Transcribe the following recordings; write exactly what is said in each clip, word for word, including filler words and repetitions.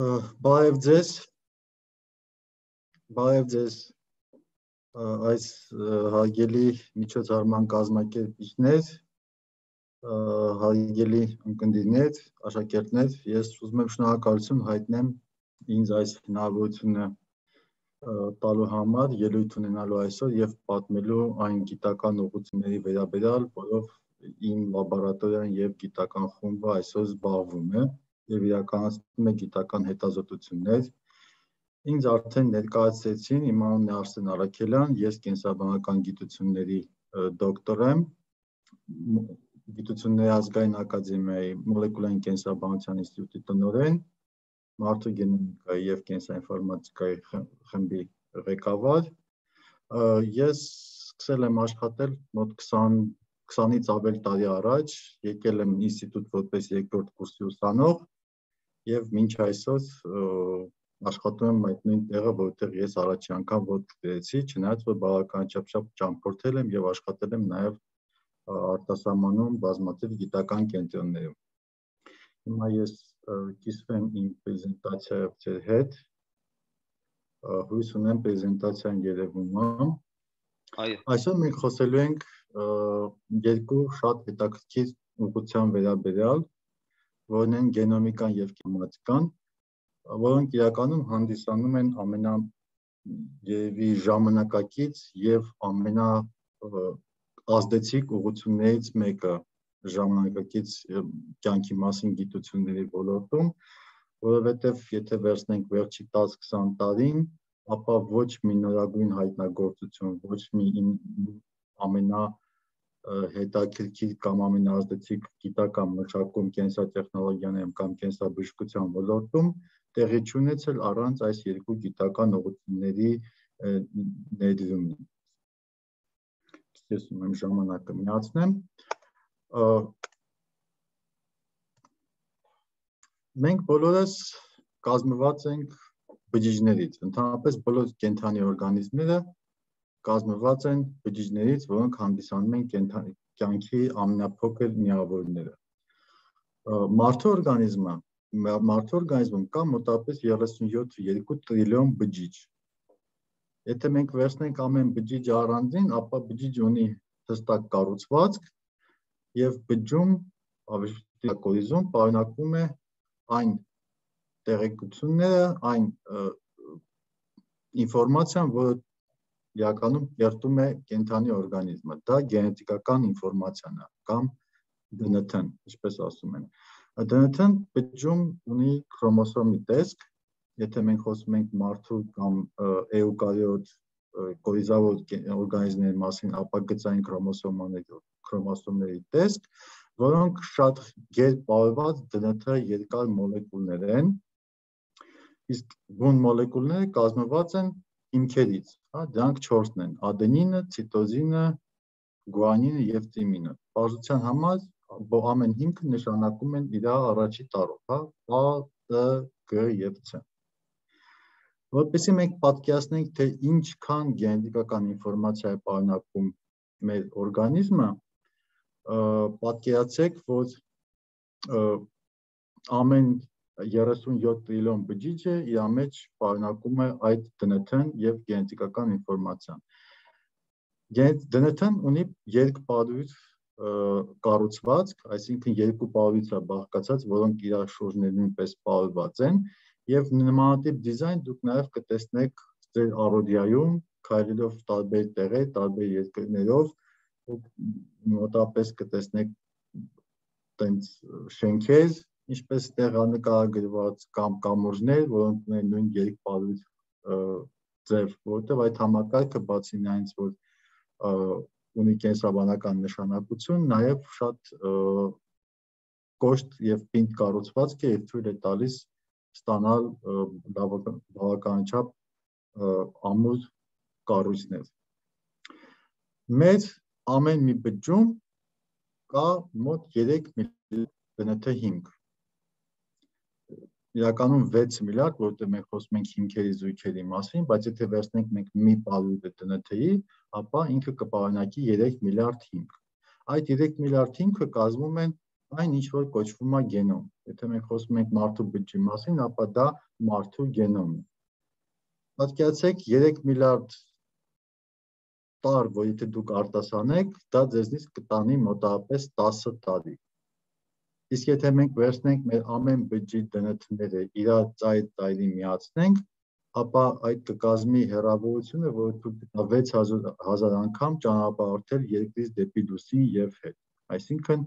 Բարև ձեզ, բարև ձեզ այս հարգելի միջոցառման կազմակերպիչներ, հարգելի ունկնդիրներ, աշակերտներ, ես ուզում եմ շնորհակալություն հայտնեմ ինձ այս հնարավորությունը տալու համար, ելույթ ունենալու այսօր եւ պատմելու այն գիտական ուղղությունների վերաբերյալ, որով իմ լաբորատորիան եւ գիտական խումբը այսօր զբաղվում է եւ իրականացնում է գիտական հետազոտություններ։ Ինձ արդեն ներկայացրեցին, իմ անունն է Արսեն Արաքելյան, ես կենսաբանական գիտությունների դոկտոր եմ, Գիտությունների ազգային ակադեմիայի մոլեկուլային կենսաբանության ինստիտուտի տնօրեն, մարդու գենոմիկայի եւ կենսաինֆորմատիկայի խմբի ղեկավար։ Ես սկսել եմ աշխատել մոտ քսանից ավել տարի առաջ, եկել եմ ինստիտուտ որպես երկրորդ կուրսի ուսանող եւ մինչ այսօր աշխատում եմ այդ նույն տեղը, որտեղ ես առաջին անգամ ոտք դրեցի, չնայած որ բավականաչափ ճամփորդել եմ եւ աշխատել եմ նաեւ արտասահմանում բազմաթիվ գիտական կենտրոններում։ Հիմա ես կիսվեմ իմ պրեզենտացիայով ձեր հետ։ Հույս ունեմ պրեզենտացիան երևում է։ Այսօր մենք խոսելու ենք երկու շատ հետաքրքիր ուղղության վերաբերյալ, որն են գենոմիկան եւ կենսաբանական, որոնք իրականում հանդիսանում են ամենա երևի ժամանակակից եւ ամենա ազդեցիկ ուղղություններից մեկը ժամանակակից կյանքի մասին գիտությունների ոլորտում, որովհետեւ եթե վերցնենք վերջի տասը-քսան տարին, ապա ոչ մի նորագույն հայտնագործություն, ոչ մի ամենա հետաքրքիր կամ ամենաազդեցիկ գիտական մշակում կենսատեխնոլոգիաներում կամ կենսաբժշկության ոլորտում տեղի չունեցել առանց այս երկու գիտական ուղղությունների ներդրումի։ Ես ում ժամանակը միացնեմ։ Մենք բոլորս կազմված ենք բջիջներից, ընդհանրապես բոլոր կենդանի օրգանիզմները կազմված են բջիջներից, որոնք հանդիսանում են կյանքի ամենափոքր միավորները։ Մարդու օրգանիզմը, մարդու օրգանիզմում կա մոտավորապես երեսունյոթ կόμma երկու տրիլիոն բջիջ։ Եթե մենք վերցնենք ամեն բջիջը առանձին, ապա բջիջը ունի հստակ կառուցվածք եւ բջջում, ավելի կորիզում պարունակվում է այն տեղեկությունները, այն ինֆորմացիան, որը իրականում կերտում է կենդանի օրգանիզմը, դա գենետիկական ինֆորմացիան է կամ դե են թ-ն, ինչպես ասում են։ դե են թ-ն բջջում ունի քրոմոսոմի տեսք, եթե մենք խոսում ենք մարդու կամ էուկարիոտ կորիզավոր օրգանիզմների մասին, ապա գծային քրոմոսոմների տեսք, որոնք շատ գերպարված դե են թ երկար մոլեկուլներ են, իսկ բուն մոլեկուլները կազմված են հիմքերից, դրանք չորսն են՝ ադենինը, ցիտոզինը, գուանինը եւ թիմինը։ Պարզության համար ամեն հիմքը նշանակում են իր առաջի տառով, A, T, G եւ C։ Որպեսզի մենք պատկերացնենք, թե ինչքան գենետիկական ինֆորմացիա է պարունակում մեր օրգանիզմը, պատկերացրեք, որ ամեն երեսունյոթ տրիլիոն բջիջը իր մեջ պարունակում է այդ դե են թ-ն եւ գենետիկական ինֆորմացիան։ դե են թ-ն ունի երկպարույր կառուցվածք, այսինքն երկու պարույց է բաղկացած, որոնք իրար շուրջն նույնպես պարուրված են, եւ նմանատիպ դիզայն դուք նաեւ կտեսնեք ձեր առօրյայում, քայլելով տարբեր տեղեր, տարբեր երկրներով, մոտավորապես կտեսնեք տենց շենքեր, ինչպես տեղանկարագրված կամ կամուրջներ, որոնք ունեն նույն երկպարույր ձև, որովհետև այդ համակարգը բացի նրանից, որ ունի կենսաբանական նշանակություն, նաև շատ կոշտ եւ պինդ կառուցվածք է եւ թույլ է տալիս ստանալ բավականաչափ ամուր կառույցներ։ Մեր ամեն մի բջջում կա մոտ երեք միլիարդ դե են թ հիմք։ Իրականում վեց միլիարդ, որտեղ մենք խոսում ենք հիմքերի զույգերի մասին, բայց եթե վերցնենք մենք մի պարույր դե են թ-ի, ապա ինքը կպարունակի երեք միլիարդ հիմք։ Այդ երեք միլիարդ հիմքը կազմում են այն ինչ որ կոչվում է գենոմ։ Եթե մենք խոսում ենք մարդու բջջի մասին, ապա դա մարդու գենոմն է։ Պատկերացրեք երեք միլիարդ տար, որ եթե դուք արտասանեք, դա ձեզնից կտանի մոտավորապես տասը տարի։ Իսկ եթե մենք վերցնենք մեր ամեն բջջի դե են թ-ները իրար ծայր ծայրի միացնենք, ապա այդ կկազմի հեռավորությունը, որ դուք վեց հազար անգամ ճանապարհորդել երկրից դեպի լուսին եւ հետ։ Այսինքն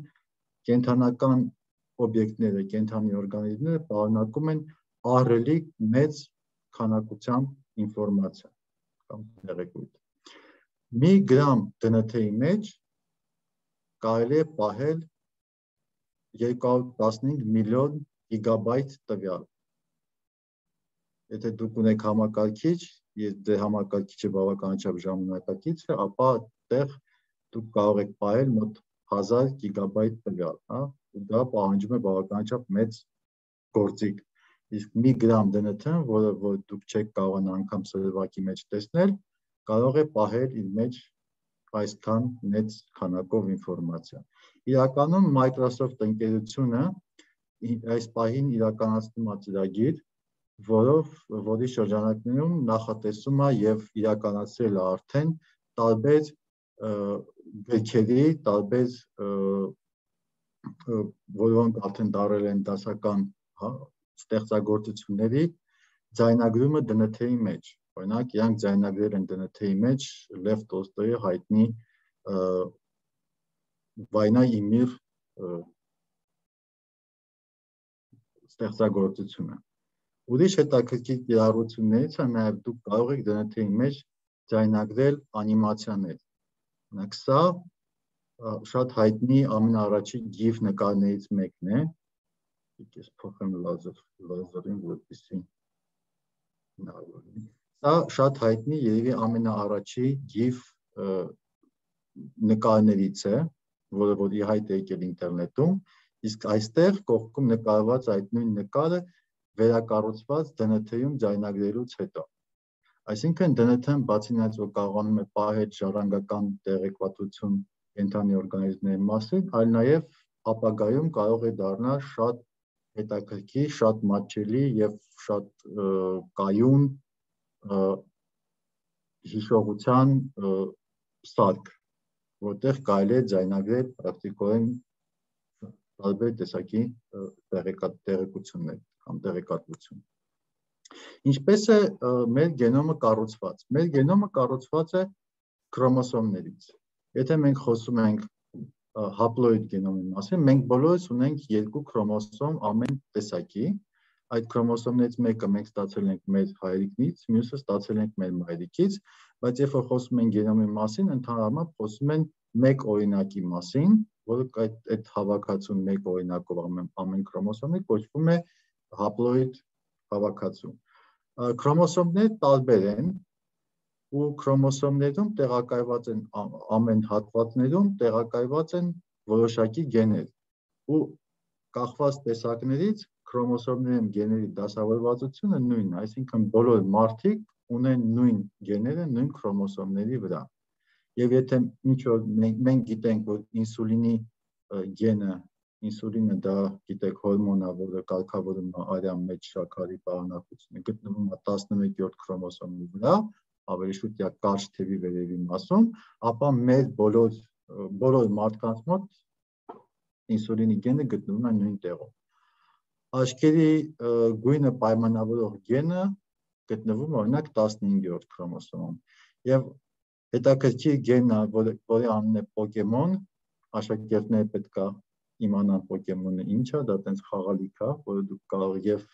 կենդանական օբյեկտները, կենդանի օրգանիզմները պարունակում են ահռելի մեծ քանակությամբ ինֆորմացիա կամ տեղեկույթ։ Մի գրամ դե են թ-ի մեջ կարելի է պահել երկու հարյուր տասնհինգ միլիոն գիգաբայթ տվյալ։ Եթե դուք ունեք համակարգիչ, եւ ձեր համակարգիչը բավականաչափ ժամանակակից է, ապա այդտեղ դուք կարող եք պահել մոտ հազար գիգաբայթ տվյալ, հա, ու դա պահանջում է բավականաչափ մեծ գործիք։ Իսկ մի գրամ դե են թ, որը որ դուք չեք կարողանա անգամ սրվակի մեջ տեսնել, կարող է պահել իր մեջ այսքան մեծ քանակով ինֆորմացիա։ Իրականում Microsoft ընկերությունը այս պահին իրականացնում է ծրագիր, որով որի շրջանակներում նախատեսում է եւ իրականացրել է արդեն տարբեր գրքերի, տարբեր որոնք արդեն դարել են դասական ստեղծագործությունների ձայնագրումը դե են թ-ի մեջ։ Օրինակ, իրանք ձայնագրել են դե են թ-ի մեջ Լև Տոլստոյի հայտնի Վայնա ի միր ստեղծագործությունը։ Ուրիշ հետաքրքիր կիրառություններից է նաև դուք կարող եք դե են թ-ի մեջ ձայնագրել անիմացիաներ։ Օրինակ, սա շատ հայտնի ամենաառաջի GIF նկարներից մեկն է։ Ես փոխեմ լազեր, լազերին, որպեսզի հնարավոր լինի։ Սա շատ հայտնի երևի ամենաառաջի GIF նկարներից է, որը որ ի հայտ է եկել ինտերնետում, իսկ այստեղ կողքում նկարված այդ նույն նկարը վերակառուցված դե են թ-ում ձայնագրելուց հետո։ Այսինքն դե են թ-ն բացի նրանից, որ կարողանում է պահել ժառանգական տեղեկատվություն կենդանի օրգանիզմների մասին, այլ նաև ապագայում կարող է դառնալ շատ հետաքրքիր, շատ մատչելի եւ շատ կայուն հիշողության սարք, որտեղ կարելի է ձայնագրել պրակտիկորեն տարբեր տեսակի տեղեկություններ կամ տեղեկատվություն։ Ինչպես է մեր գենոմը կառուցված։ Մեր գենոմը կառուցված է քրոմոսոմներից։ Եթե մենք խոսում ենք հապլոիդ գենոմի մասին, մենք բոլորս ունենք երկու քրոմոսոմ ամեն տեսակի։ Այդ քրոմոսոմներից մեկը մենք ստացել ենք մեր հայրիկից, մյուսը ստացել ենք մեր մայրիկից, բայց երբ որ խոսում են գենոմի մասին, ընդհանրապես խոսում են մեկ օրինակի մասին, որը այդ այդ հավաքածուն մեկ օրինակով ամեն ամեն քրոմոսոմի կոչվում է հապլոիդ հավաքածու։ Քրոմոսոմները տարբեր են ու քրոմոսոմներում տեղակայված են ամեն հատվածներում տեղակայված են որոշակի գեներ ու կախված տեսակներից քրոմոսոմներում գեների դասավորվածությունը նույնն է, այսինքն բոլոր մարդիկ ունեն նույն գեները նույն քրոմոսոմների վրա։ Եվ եթե ինչ որ մենք գիտենք, որ ինսուլինի գենը, ինսուլինը դա գիտեք հորմոն է, որը կարգավորում է արյան մեջ շաքարի պարունակությունը, գտնվում է տասնմեկերորդ քրոմոսոմի վրա, ավելի շուտ է կարճ թևի վերևի մասում, ապա մեր բոլոր բոլոր մարդկանց մոտ ինսուլինի գենը գտնվում է նույն տեղում։ Աչքերի գույնը պայմանավորող գենը գտնվում է օրինակ տասնհինգերորդ քրոմոսոմում։ Եվ հետաքրքիր գենը, որի անունն է Պոկեմոն, աշակերտները պետք է իմանան Պոկեմոնը ինչ է, դա տենց խաղալիք է, որը դուք կարող եւ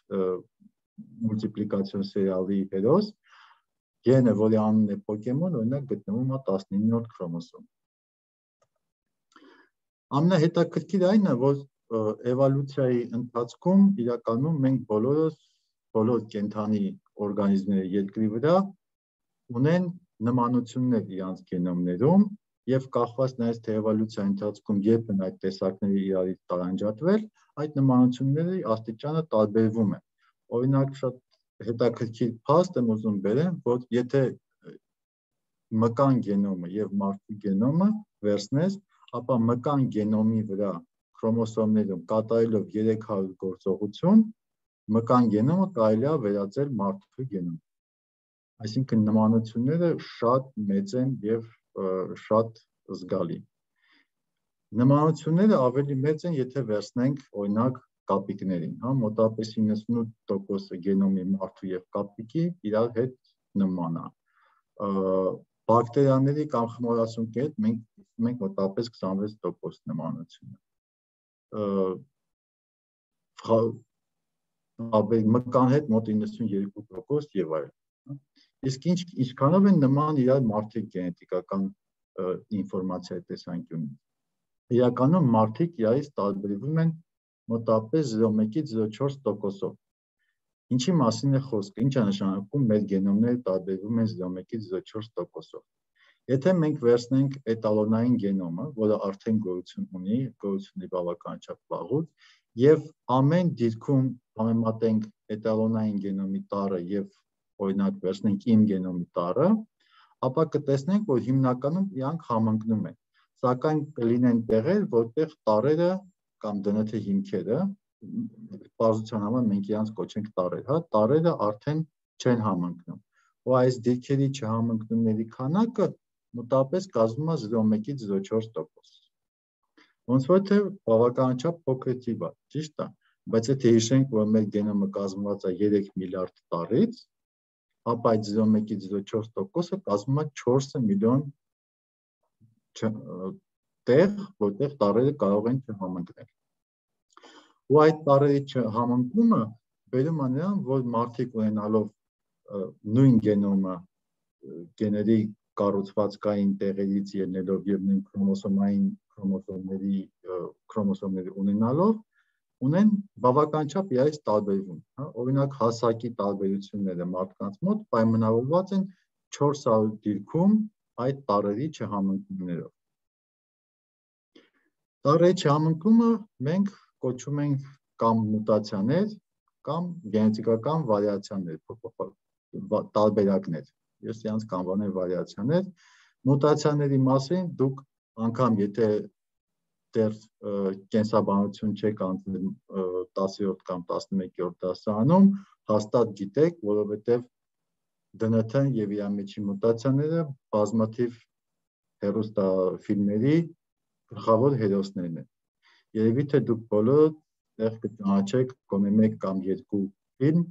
մուլտիպլիկացիոն սերիալի հերոս, գենը, որի անունն է Պոկեմոն, օրինակ գտնվում է տասնիններորդ քրոմոսոմ։ Ամենահետաքրքիրը այն է, որ էվոլյուցիայի ընթացքում իրականում մենք բոլորս բոլոր կենդանի օրգանիզմների երկրի վրա ունեն նմանություններ իրանց գենոմներում եւ կախված նաեւ թե էվոլյուցիայի ընթացքում երբ են այդ տեսակները իրարից տարանջատվել, այդ նմանությունների աստիճանը տարբերվում է։ Օրինակ շատ հետաքրքիր փաստ եմ ուզում բերեմ, որ եթե մկան գենոմը եւ մարդու գենոմը վերցնես, ապա մկան գենոմի վրա քրոմոսոմներում կատարելով երեք հարյուր գործողություն մկան գենոմը կարելի է վերածել մարդու գենոմ։ Այսինքն նմանությունները շատ մեծ են եւ շատ զգալի։ Նմանությունները ավելի մեծ են, եթե վերցնենք օրինակ կապիկներին, հա, մոտավորապես իննսունութ տոկոս գենոմի մարդու եւ կապիկի իրար հետ նման է։ Բակտերիաների կամ խմորասունկի հետ մենք մենք մոտավորապես քսանվեց տոկոս նմանություն է։ Մկան հետ մոտ իննսունյոթ տոկոս եւ այլն։ Իսկ ինչ ինչքանով են նման իրար մարդիկ գենետիկական ինֆորմացիայի տեսանկյունից։ Իրականում մարդիկ իրարից տարբերվում են մոտավորապես զիրո կoma զիրո չորս տոկոսով։ Ինչի մասին է խոսքը, ինչ է նշանակում մեր գենոմները տարբերվում են զիրո կoma զիրո չորս տոկոսով։ Եթե մենք վերցնենք էտալոնային գենոմը, որը արդեն գոյություն ունի, գոյություն ունի բավականաչափ վաղուց, եւ ամեն դիրքում համեմատենք էտալոնային գենոմի տառը եւ օրինակ վերցնենք իմ գենոմի տառը, ապա կտեսնենք, որ հիմնականում իրանք համընկնում են, սակայն կլինեն տեղեր, որտեղ տառերը կամ դն թ հիմքերը, պարզության համար մենք իրանց կոչենք տառեր, հա, տառերը արդեն չեն համընկնում։ Ու այս դիրքերի չհամընկնումների քանակը մոտավորապես կազմում է զիրո կoma զիրո չորս տոկոս։ Ոնց որ թե բավականաչափ փոքր թիվ է, ճիշտ է, բայց եթե հիշենք, որ մեր գենոմը կազմված է երեք միլիարդ տառից, ապա այդ զիրո կoma զիրո չորս տոկոսը կազմում է չորս միլիոն տեղ, որտեղ տառերը կարող են չհամընկնել։ Ու այդ տառերի չհամընկումը բերում է նրան, որ մարդիկ ունենալով նույն գենոմը գեների կառուցվածքային տեղերից ելնելով եւ նույն քրոմոսոմային քրոմոսոմների քրոմոսոմների ունենալով ունեն բավականաչափ իրարից տարբերվում, հա, օրինակ հասակի տարբերությունները մարդկանց մոտ պայմանավորված են չորս հարյուր դիրքում այդ տառերի չհամընկումներով։ Տառերի չհամընկումը մենք կոչում ենք կամ մուտացիաներ, կամ գենետիկական վարիացիաներ, տարբերակներ։ Ես իրանց կանվանել վարիացիաներ, մուտացիաների մասին դուք անգամ եթե դեռ կենսաբանություն չեք անցել տասերորդ կամ տասնմեկերորդ դասարանում, հաստատ գիտեք, որովհետև դն թ-ն եւ իր միջի մուտացիաները բազմաթիվ հեռուստաֆիլմերի գլխավոր հերոսներն են։ Երևի թե դուք բոլորը տեղ կճանաչեք գոնե մեկ կամ երկու ֆիլմ,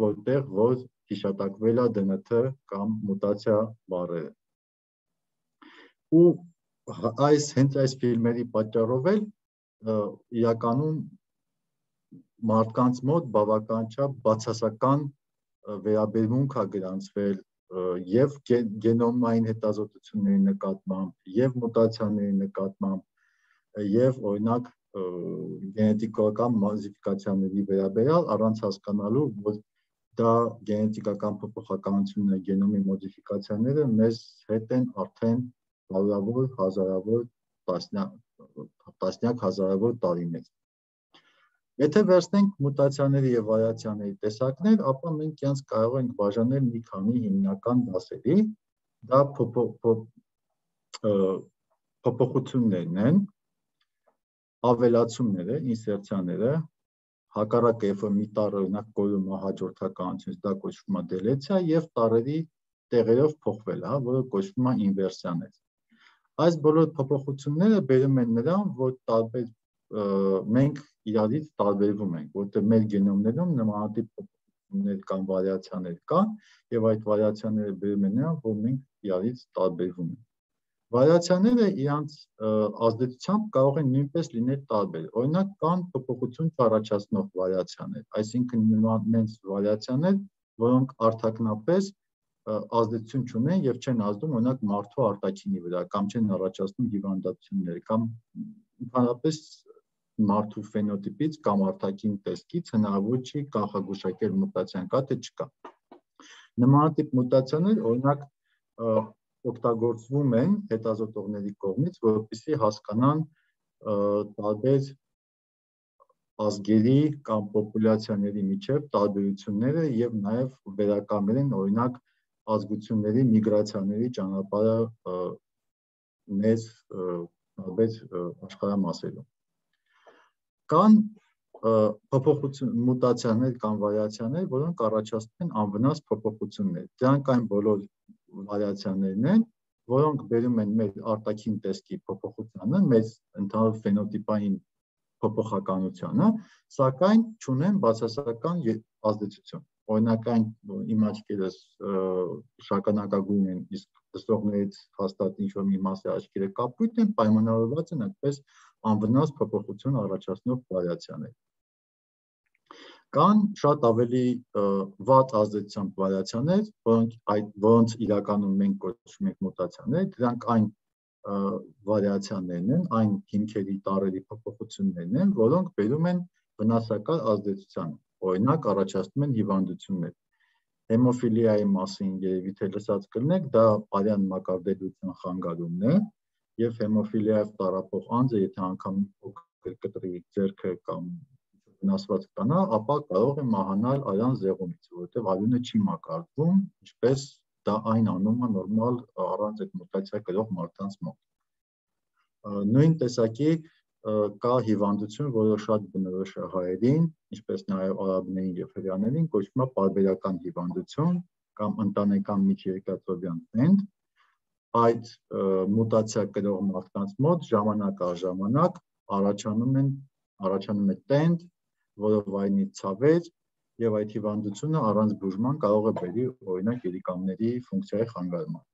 որտեղ որ հիշատակվել է դն թ կամ մուտացիա բառերը։ Ու այս հենց այս ֆիլմերի պատճառով էլ իրականում մարդկանց մոտ բավականաչափ բացասական վերաբերմունք է գրանցվել եւ գենոմային հետազոտությունների նկատմամբ, եւ մուտացիաների նկատմամբ, եւ օրինակ գենետիկական մոդիֆիկացիաների վերաբերյալ առանց հասկանալու, որ դա գենետիկական փոփոխականությունները, գենոմի մոդիֆիկացիաները մեզ հետ են արդեն հարյուրավոր, հազարավոր, տասնյակ հազարավոր տարիներ։ Եթե վերցնենք մուտացիաների եւ վարիացիաների տեսակներ, ապա մենք իրանց կարող ենք բաժանել մի քանի հիմնական դասերի, դա փոփոխություններն են, ավելացումները, ինսերցիաները, հակառակը երբ որ մի տառը օրինակ կորում է հաջորդականությունից, դա կոչվում է դելեցիա եւ տառերի տեղերով փոխվել, հա, որը կոչվում է ինվերսիաներ։ Այս բոլոր փոփոխությունները բերում են նրան, որ տարբեր մենք իրարից տարբերվում ենք, որտեղ մեր գենոմներում նմանատիպ փոփոխություններ կամ վարիացիաներ կան եւ այդ վարիացիաները բերում են նրան, որ մենք իրարից տարբերվում ենք։ Վարիացիաները իրանց ազդեցությամբ կարող են նույնպես լինել տարբեր։ Օրինակ կան փոփոխություն չառաջացնող վարիացիաներ, այսինքն նույնպես վարիացիաներ, որոնք արտաքնապես ազդեցություն չունեն եւ չեն ազդում օրինակ մարդու արտաքինի վրա կամ չեն առաջացնում հիվանդություններ կամ ընդհանրապես մարդու ֆենոտիպից կամ արտաքին տեսքից հնարավոր չի կանխագուշակել մուտացիան կա թե չկա։ Նմանատիպ մուտացիաներ օրինակ օգտագործվում են հետազոտողների կողմից, որպեսզի հասկանան տարբեր ազգերի կամ պոպուլյացիաների միջև տարբերությունները եւ նաեւ վերականգնեն օրինակ ազգությունների միգրացիաների ճանապարհը մեծ տարբեր աշխարհամասերում։ Կան փոփոխություն, մուտացիաներ կամ վարիացիաներ, որոնք առաջացնում են անվնաս փոփոխություններ։ Դրանք այն բոլոր վարիացիաներն են, որոնք բերում են մեր արտաքին տեսքի փոփոխությանը, մեր ընդհանուր ֆենոտիպային փոփոխականությանը, սակայն չունեն բացասական ազդեցություն։ Օրինակ այն իմ աչքերս շագանակագույն են, իսկ դստողներից հաստատ ինչ-որ մի մասի աչքերը կապույտ են, պայմանավորված են այդպես անվնաս փոփոխություն առաջացնող վարիացիաներ։ Կան շատ ավելի վատ ազդեցությամբ վարիացիաներ, որոնք այդ որոնց իրականում մենք կոչում ենք մուտացիաներ, դրանք այն վարիացիաներն են, այն հիմքերի տարրերի փոփոխություններն են, որոնք բերում են վնասակար ազդեցության, օրինակ առաջացնում են հիվանդություններ։ Հեմոֆիլիայի մասին երևի թե լսած կլինեք, դա արյան մակարդելիության խանգարումն է, եւ հեմոֆիլիայով տառապող անձը, եթե անգամ փոքր կտրի ձեռքը կամ վնասված կանա, ապա կարող է մահանալ արյան զեղումից, որովհետև արյունը չի մակարդվում, ինչպես դա այն անում է նորմալ առանց այդ մուտացիա կրող մարդկանց մոտ։ Նույն տեսակի կա հիվանդություն, որը շատ բնորոշ է հայերին, ինչպես նաև արաբներին եւ հրեաներին, կոչվում է պարբերական հիվանդություն կամ ընտանեկան միջերկրածովյան տենդ։ Այդ մուտացիա կրող մարդկանց մոտ ժամանակ առ ժամանակ առաջանում են առաջանում է տենդ, որը վայնի ցավեր, եւ այդ հիվանդությունը առանց բուժման կարող է բերի օրինակ երիկամների ֆունկցիայի խանգարման։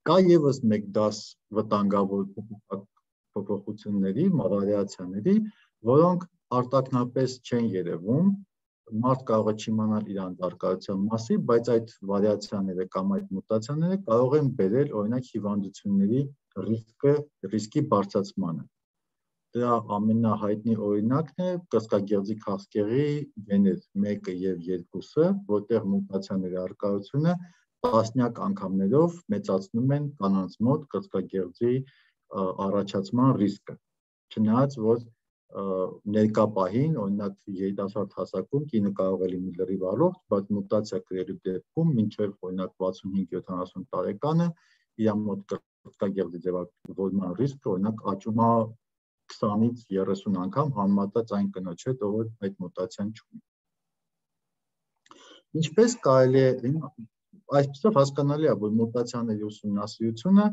Կա եւս մեկ դաս վտանգավոր փոփոխությունների, վարիացիաների, որոնք արտաքնապես չեն երևում, մարդ կարող է չիմանալ իրանց առկայության մասին, բայց այդ վարիացիաները կամ այդ մուտացիաները կարող են բերել օրինակ հիվանդությունների ռիսկը, ռիսկի բարձրացմանը։ Դրա ամենահայտնի օրինակն է կրծքագեղձի քաղցկեղի գեներ մեկը եւ երկուսը, որտեղ մուտացիաների առկայությունը տասնյակ անգամներով մեծացնում են կանանց մոտ կրծքագեղձի առաջացման ռիսկը։ Չնայած որ ներկա պահին, օրինակ երիտասարդ հասակում կինը կարող է լինի լրիվ առողջ, բայց մուտացիա կրելու դեպքում մինչև օրինակ վաթսունհինգ յոթանասուն տարեկանը իր մոտ կրծքագեղձի ձևավորման ռիսկը օրինակ աճում է քսանից երեսուն անգամ համեմատած այն կնոջ հետ, ով այդ մուտացիան չունի։ Ինչպես կարելի է այսպեսով հասկանալի է, որ մուտացիաների ուսումնասիրությունը,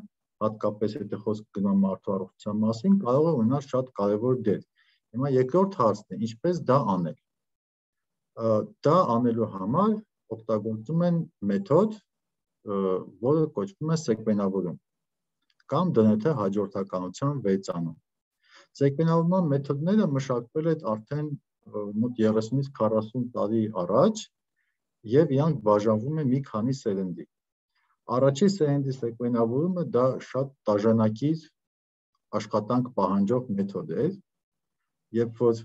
հատկապես եթե խոսք գնում մարդու առողջության մասին, կարող է ունենալ շատ կարևոր դեր։ Հիմա երկրորդ հարցն է, ինչպես դա անել։ Դա անելու համար օգտագործում են մեթոդ, որը կոչվում է սեկվենավորում կամ դն թե հաջորդականության վերծանում։ Սեկվենավորման մեթոդները մշակվել են արդեն մոտ երեսունից քառասուն տարի առաջ եւ իրանք բաժանվում են մի քանի սերնդի։ Առաջի սերնդի սեկվենավորումը դա շատ տաժանակիր աշխատանք պահանջող մեթոդ է, երբ որ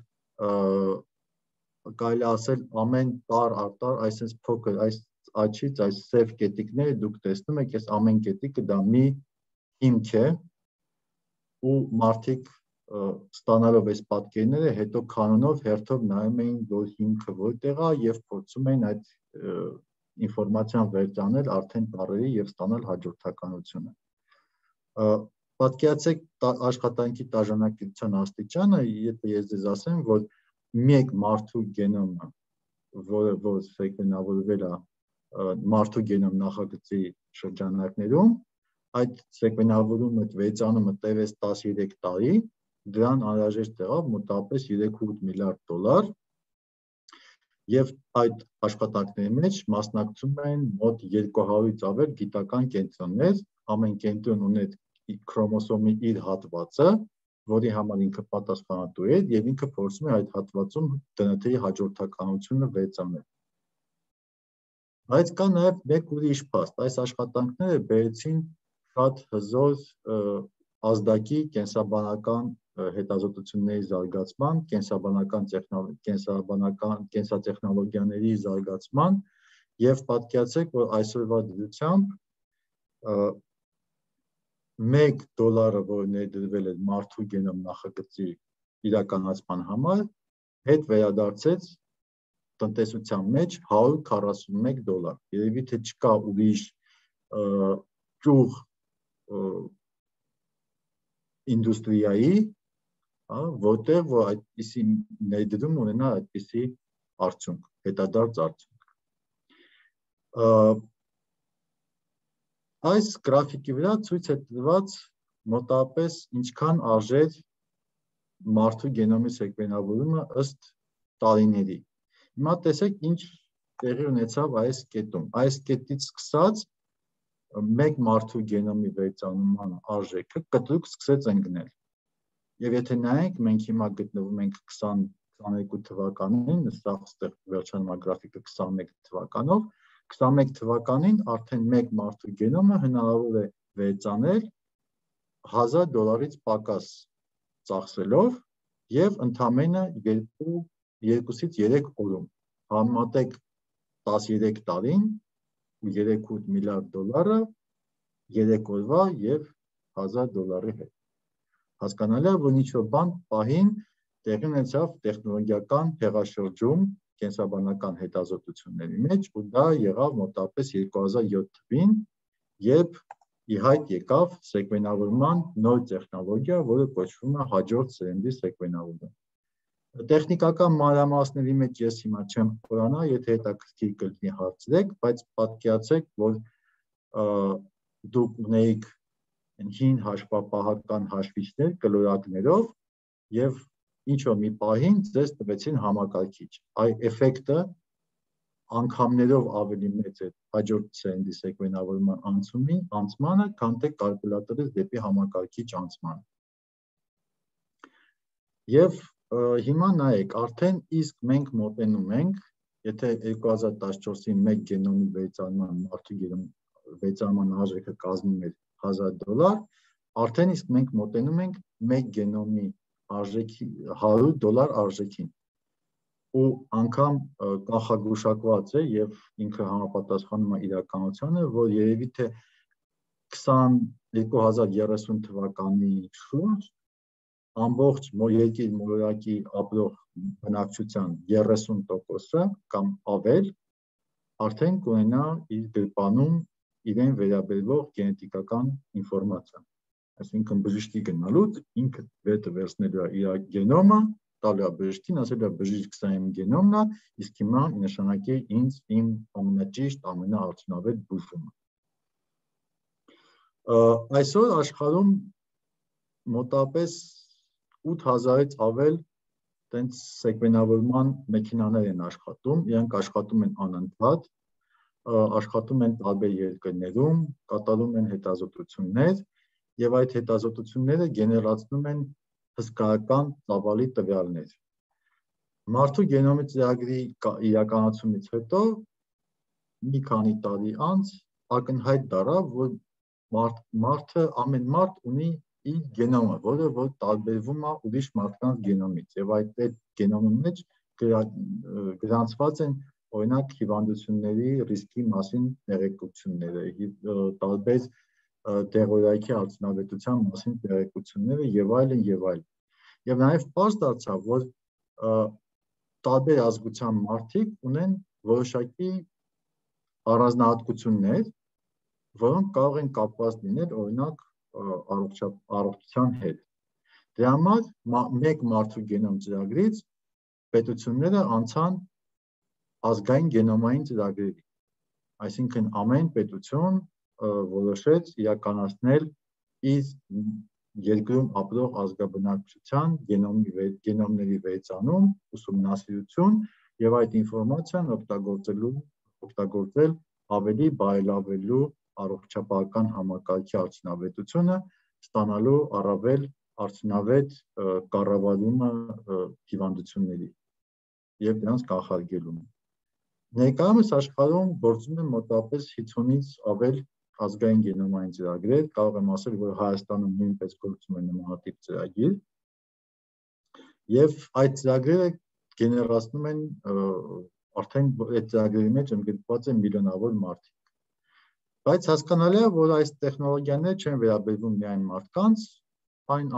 կարելի ասել ամեն տար արտար այսպես փոքր այս աչից այս սև կետիկները դուք տեսնում եք, այս ամեն կետիկը դա մի հիմք է ու մարդիկ ստանալով այս պատկերները հետո կանոնով հերթով նայում էին որ հիմքը որտեղ է եւ փորձում էին այդ ինֆորմացիան վերծանել արդեն տառերի եւ ստանալ հաջորդականությունը։ Պատկերացեք աշխատանքի տաժանակության աստիճանը, եթե ես ձեզ ասեմ, որ մեկ մարդու գենոմը, որը որ սեկվենավորվել է մարդու գենոմ նախագծի շրջանակներում, այդ սեկվենավորումը վերծանումը տևեց տասնյոթ տարի, դրան անհրաժեշտ եղավ մոտավորապես երեք ու ութ միլիարդ դոլար, եւ այդ աշխատանքների մեջ մասնակցում են մոտ երկու հարյուրից ավել գիտական կենտրոններ, ամեն կենտրոն ուներ քրոմոսոմի իր հատվածը, որի համար ինքը պատասխանատու է եւ ինքը փորձում է այդ հատվածում դն թե-ի հաջորդականությունը վերծանել։ Բայց կա նաեւ մեկ ուրիշ փաստ, այս աշխատանքները բերեցին շատ հզոր ազդակի կենսաբանական հետազոտությունների զարգացման, կենսաբանական կենսաբանական կենսատեխնոլոգիաների զարգացման եւ պատկերացրեք, որ այսօրվա դրությամբ մեկ դոլարը, որ ներդրվել է մարդու գենոմ նախագծի իրականացման համար, հետ վերադարձեց տնտեսության մեջ հարյուր քառասուն մեկ դոլար։ Երևի թե չկա ուրիշ ճյուղ ինդուստրիայի, որտեղ որ այդպիսի ներդրում ունենա այդպիսի արդյունք, հետադարձ արդյունք։ Այս գրաֆիկի վրա ցույց է տրված մոտավորապես ինչքան արժեր մարդու գենոմի սեկվենավորումը ըստ տարիների։ Հիմա տեսեք ինչ տեղի ունեցավ այս կետում։ Այս կետից սկսած մեկ մարդու գենոմի վերծանման արժեքը կտրուկ սկսեց ընկնել։ Եվ եթե նայենք, մենք հիմա գտնվում ենք քսաներկու թվականին, սա այստեղ վերջանում է գրաֆիկը քսանմեկ թվականով, քսանմեկ թվականին արդեն մեկ մարդու գենոմը հնարավոր է վերծանել հազար դոլարից պակաս ծախսելով եւ ընդամենը երկուսից երեք օրում։ Համեմատեք տասներեք տարին ու երեք միլիարդ դոլարը երեք օրվա եւ հազար դոլարի հետ։ Հասկանալի է, որ ինչ-որ բան պահին տեղի ունեցավ տեխնոլոգիական հեղաշրջում կենսաբանական հետազոտությունների մեջ, ու դա եղավ մոտավորապես երկու հազար յոթ թվականին, երբ ի հայտ եկավ սեկվենավորման նոր տեխնոլոգիա, որը կոչվում է հաջորդ սերնդի սեկվենավորում։ Տեխնիկական մանրամասների մեջ ես հիմա չեմ խորանա, եթե հետաքրքիր կլինի հարցրեք, բայց պատկերացրեք, որ դուք ունեիք հին հաշվապահական հաշվիչներ կլորակներով եւ ինչ-որ մի պահին ձեզ տվեցին համակարգիչ։ Այ էֆեկտը անգամներով ավելի մեծ է հաջորդ սերնդի սեկվենավորման անցմանը, քան թե կալկուլատորից դեպի համակարգիչ անցմանը։ Եվ հիմա նայեք, արդեն իսկ մենք մոտենում ենք, եթե երկու հազար տասնչորսի մեկ գենոմի վերծանման մարդու գենոմի վերծանման արժեքը կազմում էր հազար դոլար, արդեն իսկ մենք մոտենում ենք մեկ գենոմի արժեքի հարյուր դոլար արժեքին։ Ու անգամ կանխագուշակված է եւ ինքը համապատասխանում է իրականությանը, որ երևի թե երկու հազար երեսուն թվականի շուրջ ամբողջ երկիր մոլորակի ապրող բնակչության երեսուն տոկոսը կամ ավել արդեն կունենա իր գրպանում իրեն վերաբերող գենետիկական ինֆորմացիա։ Այսինքն բժշկի գնալուց ինքը վետը վերցնելու է իր գենոմը, տալու է բժշկին, ասելու է բժիշկ սա իմ գենոմն է, իսկ հիմա նշանակի ինձ իմ ամենաճիշտ, ամենաարդյունավետ բուժումը։ Այսօր աշխարհում մոտավորապես ութ հազարից ավել տենց սեկվենավորման մեքենաներ են աշխատում, իրենք աշխատում են անընդհատ, աշխատում են տարբեր երկրներում, կատարում են հետազոտություններ եւ այդ հետազոտությունները գեներացնում են հսկայական ծավալի տվյալներ։ Մարդու գենոմի ծրագրի իրականացումից հետո մի քանի տարի անց ակնհայտ դառավ, որ մարդը ամեն մարդ ունի իր գենոմը, որը որ տարբերվում է ուրիշ մարդկանց գենոմից եւ այդ գենոմի մեջ գրանցված են օրինակ հիվանդությունների ռիսկի մասին տեղեկությունները, տարբեր դեղորայքի արդյունավետության մասին տեղեկությունները եւ այլն եւ այլն։ Եվ նաեւ պարզ դարձավ, որ տարբեր ազգության մարդիկ ունեն որոշակի առանձնահատկություններ, որոնք կարող են կապված լինել օրինակ առողջության հետ։ Դրա համար մեկ մարդու գենոմ ծրագրից պետությունները անցան ազգային գենոմային ծրագրերի։ Այսինքն ամեն պետություն որոշեց իրականացնել իր երկրում ապրող ազգաբնակչության գենոմների վերծանում, ուսումնասիրություն եւ այդ ինֆորմացիան օգտագործել ավելի բարելավելու առողջապահական համակարգի արդյունավետությունը, ստանալու առավել արդյունավետ կառավարումը հիվանդությունների եւ դրանց կանխարգելումը։ Ներկայումս աշխարհում գործում են մոտավորապես հինգից ավել ազգային գենոմային ծրագրեր, կարող եմ ասել, որ Հայաստանում նույնպես գործում է նմանատիպ ծրագիր, եւ այդ ծրագրերը գեներացնում են արդեն այդ ծրագրերի մեջ ընդգրկված են միլիոնավոր մարդիկ։ Բայց հասկանալի է, որ այս տեխնոլոգիաները չեն վերաբերվում միայն մարդկանց, այն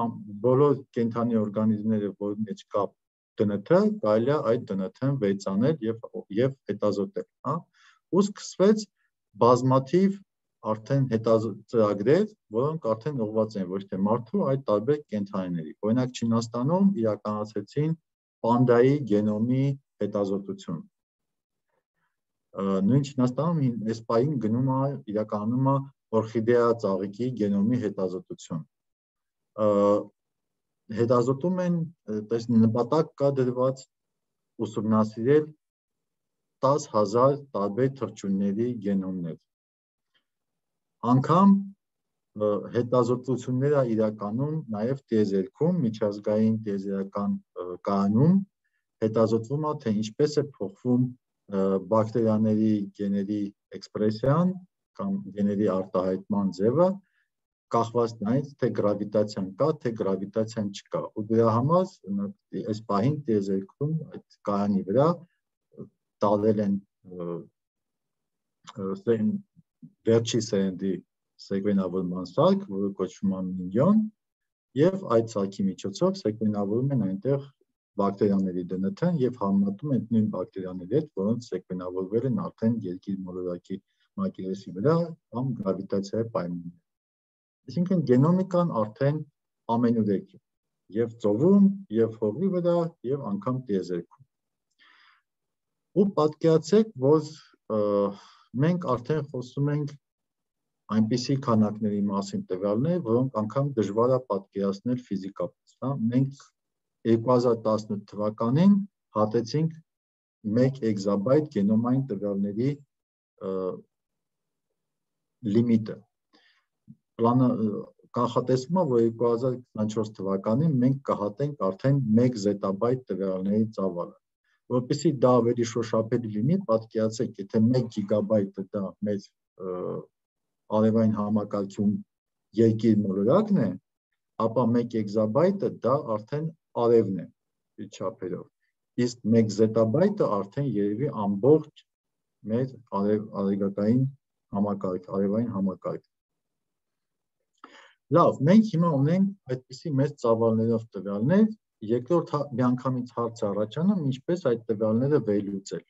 բոլոր կենդանի օրգանիզմները, որի մեջ կա դը են թե, կարելի է այդ դը են թե-ն վերծանել եւ եւ հետազոտել, հա։ Ու սկսվեց բազմաթիվ արդեն հետազոտագրեր, որոնք արդեն ուղղված են ոչ թե մարդու, այլ տարբեր կենդանիների։ Օրինակ Չինաստանում իրականացրեցին պանդայի գենոմի հետազոտություն։ Նույն Չինաստանում այս պահին գնում է իրականում օրխիդեա ծաղիկի գենոմի հետազոտություն։ Հետազոտում են, նպատակ կա դրված ուսումնասիրել տասը հազար տարբեր թռչունների գենոմներ։ Անգամ հետազոտությունները իրականում նաև տիեզերքում, միջազգային տիեզերական կայանում հետազոտվում է, թե ինչպես է փոխվում բակտերիաների գեների էքսպրեսիան կամ գեների արտահայտման ձևը, կախված նրանից, թե գրավիտացիան կա, թե գրավիտացիան չկա։ Ու դրա համար այս պահին տիեզերքում այդ կայանի վրա տալել են վերջի սերնդի սեկվենավորման սարք, որը կոչվում է Մինյոն, եւ այդ սարքի միջոցով սեկվենավորում են այնտեղ բակտերիաների դե են թե եւ համեմատում են նույն բակտերիաների հետ, որոնց սեկվենավորվել են արդեն երկիր մոլորակի մակերեսի վրա կամ գրավիտացիայի պայմաններում։ Այսինքն գենոմիկան արդեն ամենուրեք է, եւ ծովում, եւ հողի վրա, եւ անգամ տիեզերքում։ Ու պատկերացրեք, որ մենք արդեն խոսում ենք այնպիսի քանակների մասին տվյալներ, որոնք անգամ դժվար է պատկերացնել ֆիզիկապես, հա, մենք երկու հազար տասնութ թվականին հատեցինք մեկ էքզաբայթ գենոմային տվյալների լիմիտը։ Պլանը կանխատեսվում է, որ երկու հազար քսանչորս թվականին մենք կհատենք արդեն մեկ զետաբայթ տվյալների ծավալը։ Որպեսզի դա ավելի շոշափելի լինի, պատկերացրեք, եթե մեկ գիգաբայթը դա մեր արևային համակարգում երկիր մոլորակն է, ապա մեկ էքզաբայթը դա արդեն արևն է իր չափերով, իսկ մեկ զետաբայթը արդեն երևի ամբողջ մեր արևային համակարգ, արևային համակարգ։ Լավ, մենք հիմա ունենք այդպիսի մեծ ծավալներով տվյալներ, երկրորդ միանգամից հարց առաջանում, ինչպես այդ տվյալները վերլուծել։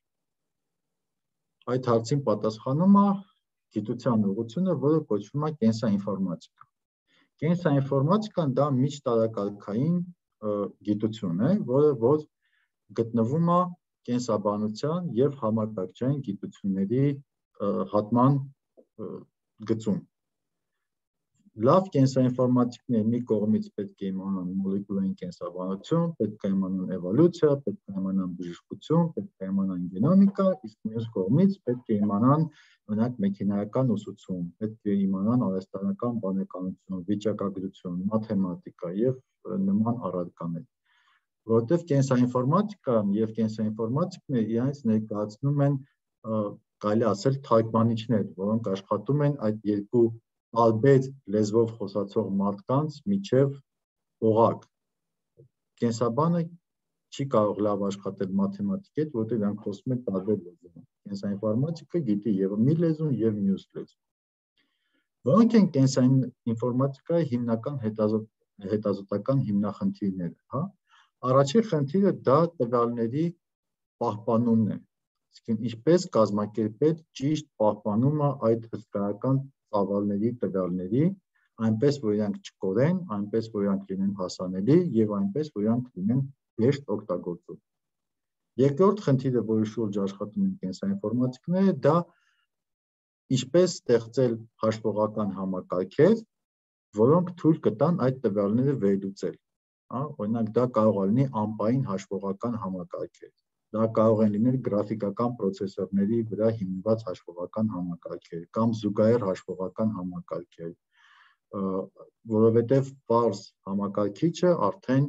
Այդ հարցին պատասխանում է գիտության ուղղությունը, որը կոչվում է կենսաինֆորմատիկա։ Կենսաինֆորմատիկան դա միջտարակարգային գիտություն է, որը որ գտնվում է կենսաբանության եւ համակարգչային գիտությունների հատման գծում։ Լավ կենսաինֆորմատիկները մի կողմից պետք է իմանան մոլեկուլային կենսաբանություն, պետք է իմանան էվոլյուցիա, պետք է իմանան բժշկություն, պետք է իմանան գենոմիկա, իսկ մյուս կողմից պետք է իմանան օրինակ մեքենայական ուսուցում, պետք է իմանան արհեստանական բանականություն, վիճակագրություն, մաթեմատիկա եւ նման առարկաներ։ Որովհետեւ կենսաինֆորմատիկան եւ կենսաինֆորմատիկները իրենց ներկայացնում են կարելի ասել թարգմանիչներ, որոնք աշխատում են այդ երկու տարբեր լեզվով խոսացող մարդկանց միջև օղակ։ Կենսաբանը չի կարող լավ աշխատել մաթեմատիկի հետ, որտեղ նրանք խոսում են տարբեր լեզվով։ Կենսաինֆորմատիկը գիտի եւ մի լեզուն եւ մյուս լեզուն։ Որոնք են կենսաինֆորմատիկայի հիմնական հետազոտական հիմնախնդիրները, հա։ Առաջին խնդիրը դա տվյալների պահպանումն է։ Իսկ ինչպես կազմակերպել ճիշտ պահպանումը այդ հսկայական ծավալների տվյալների, այնպես որ իրանք չկորեն, այնպես որ իրանք լինեն հասանելի եւ այնպես որ իրանք լինեն հեշտ օգտագործում։ Երկրորդ խնդիրը, որի շուրջ աշխատում են կենսաինֆորմատիկները, դա ինչպես ստեղծել հաշվողական համակարգեր, որոնք թույլ կտան այդ տվյալները վերլուծել։ Հա, օրինակ դա կարող է լինի անպային հաշվողական համակարգեր։ Դա կարող են լինել գրաֆիկական պրոցեսորների վրա հիմնված հաշվողական համակարգեր կամ զուգահեռ հաշվողական համակարգեր, որովհետև պարզ համակարգիչը արդեն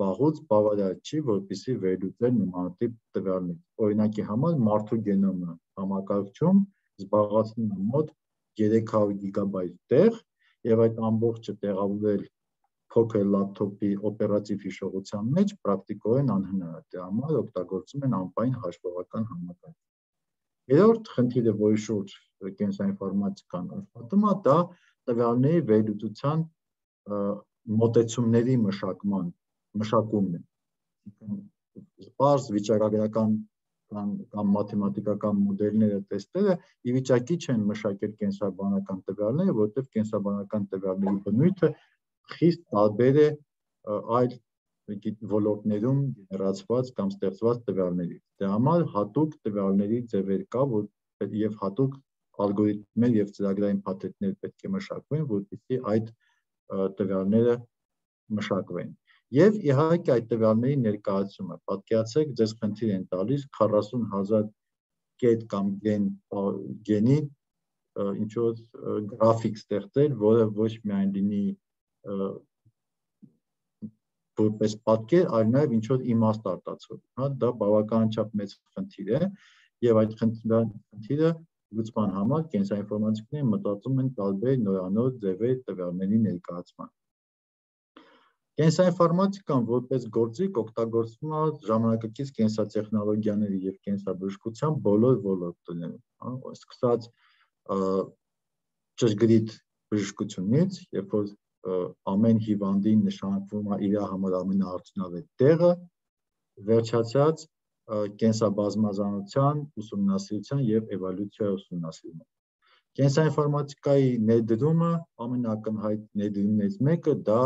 վաղուց բավարար չի, որպեսզի վերլուծել նմանատիպ տվյալներ։ Օրինակի համար մարդու գենոմը համակարգչում զբաղեցնում է մոտ երեք հարյուր գիգաբայթ տեղ եւ այդ ամբողջը տեղավորել փոքր լապտոպի օպերատիվ հիշողության մեջ պրակտիկորեն անհնար է, դրա համար օգտագործում են անպային հաշվողական համակարգ։ Երրորդ խնդիրը, որի շուրջ կենսաինֆորմատիկան աշխատում է, դա տվյալների վերլուծության մոտեցումների մշակման, մշակումն է։ Պարզ վիճակագրական կամ կամ մաթեմատիկական մոդելները տեստերը ի վիճակի չեն մշակել կենսաբանական տվյալները, որտեղ կենսաբանական տվյալների բնույթը խիստ տարբեր է այլ ոլորտներում գեներացված կամ ստեղծված տվյալներից։ Դրա համար հատուկ տվյալների ձևեր կա, որ եւ հատուկ ալգորիթմներ եւ ծրագրային փաթեթներ պետք է մշակվեն, որպեսզի այդ տվյալները մշակվեն։ Եվ իհարկե այդ տվյալների ներկայացումը, պատկերացրեք, ձեզ խնդիր են տալիս քառասուն հազար կետ կամ գեն գենի ինչ որ գրաֆիկ ստեղծել, որը ոչ միայն լինի որպես պատկեր, այլ նաև ինչ որ իմաստ արտացոլի, հա, դա բավականաչափ մեծ խնդիր է, եւ այդ խնդիրը լուծման համար կենսաինֆորմատիկները մտածում են տարբեր նորանոր ձևեր տվյալների ներկայացման։ Կենսաինֆորմատիկան որպես գործիք օգտագործվում է ժամանակակից կենսատեխնոլոգիաների եւ կենսաբժշկության բոլոր ոլորտներում, հա, սկսած ճշգրիտ բժշկությունից, երբ որ ամեն հիվանդին նշանակվում է իր համար ամենաարդյունավետ տեղը, վերջացած կենսաբազմազանության ուսումնասիրության եւ էվոլյուցիայի ուսումնասիրումը։ Կենսաինֆորմատիկայի ներդրումը ամենակնհայտ ներդրումներից մեկը դա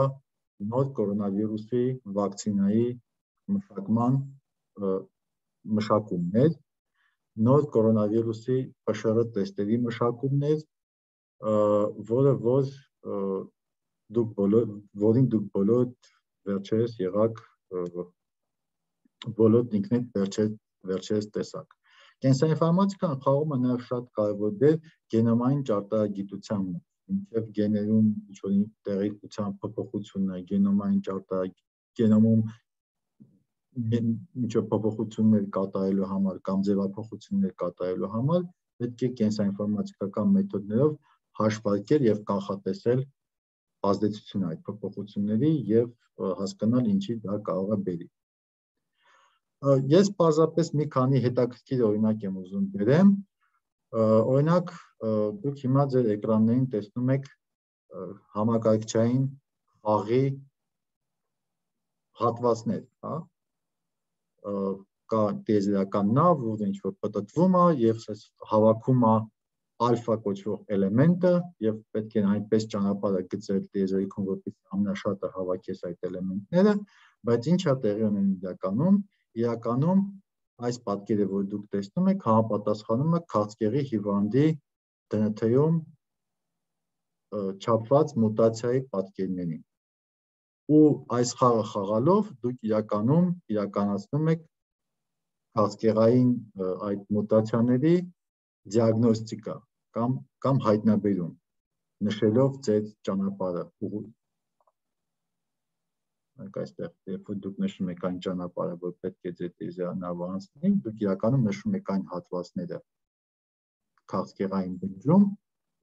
նոր կորոնավիրուսի վակցինայի մշակման մշակումն էր, նոր կորոնավիրուսի P Š R տեստերի մշակումն էր, որը որ դուք բոլոր որին դուք բոլոր վերջերս եղաք բոլոր ինքնին վերջերս վերջերս տեսակ։ Կենսաինֆորմատիկան խաղում է նաև շատ կարևոր դեր գենոմային ճարտարագիտության մեջ, ինչև գեներում ինչ-որ տեղեկության փոփոխությունը, գենոմային ճարտարագ գենոմում ինչ-որ փոփոխություններ կատարելու համար կամ ձևափոխություններ կատարելու համար պետք է կենսաինֆորմատիկական մեթոդներով հաշվարկել եւ կանխատեսել ազդեցությունը այդ փոփոխությունների եւ հասկանալ ինչի դա կարող է բերի։ Ես պարզապես մի քանի հետաքրքիր օրինակ եմ ուզում բերեմ, օրինակ դուք հիմա ձեր էկրաններին տեսնում եք համակարգչային խաղի հատվածներ, հա, կա տիեզերական նավ, որ ինչ որ պտտվում է եւ հավաքում է ալֆա կոչվող էլեմենտը եւ պետք է այնպես ճանապարհը գծել տիեզերքում, որպեսզի ամենաշատը հավաքես այդ էլեմենտները, բայց ինչա տեղի ունեն իրականում, իրականում այս պատկերը, որ դուք տեսնում եք, համապատասխանում է քաղցկեղի հիվանդի D N T-ում չափված մուտացիայի պատկերներին։ Ու այս խաղը խաղալով դուք իրականում իրականացնում եք քաղցկեղային այդ մուտացիաների դիագնոստիկա կամ կամ հայտնաբերում, նշելով ձեր ճանապարհը։ Այստեղ, երբ որ դուք նշում եք այն ճանապարհը, որ պետք է ձեր տիեզերանավը անցնի, դուք իրականում նշում եք այն հատվածները քաղցկեղային բջջում,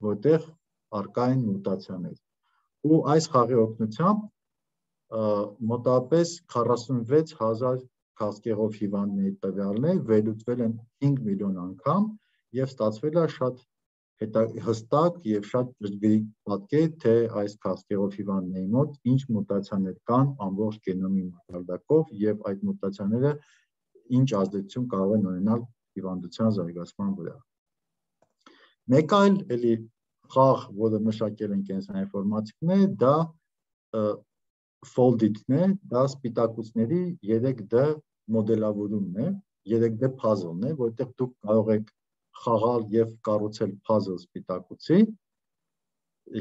որտեղ առկա են մուտացիաներ։ Ու այս խաղի օգնությամբ մոտավորապես քառասունվեց հազար քաղցկեղով հիվանդների տվյալներ վերլուծվել են հինգ միլիոն անգամ եւ ստացվել է շատ հստակ եւ շատ ճշգրիտ պատկեր, թե այս քաղցկեղով հիվանդների մոտ ինչ մուտացիաներ կան ամբողջ գենոմի մակարդակով եւ այդ մուտացիաները ինչ ազդեցություն կարող են ունենալ հիվանդության զարգացման վրա։ Մեկ այլ էլի խաղ, որը մշակել են կենսաինֆորմատիկները, դա folded-ն է, դա սպիտակուցների երեք D մոդելավորումն է, երեք D puzzle-ն է, որտեղ դուք կարող եք խաղալ եւ կառուցել puzzle սպիտակուցի,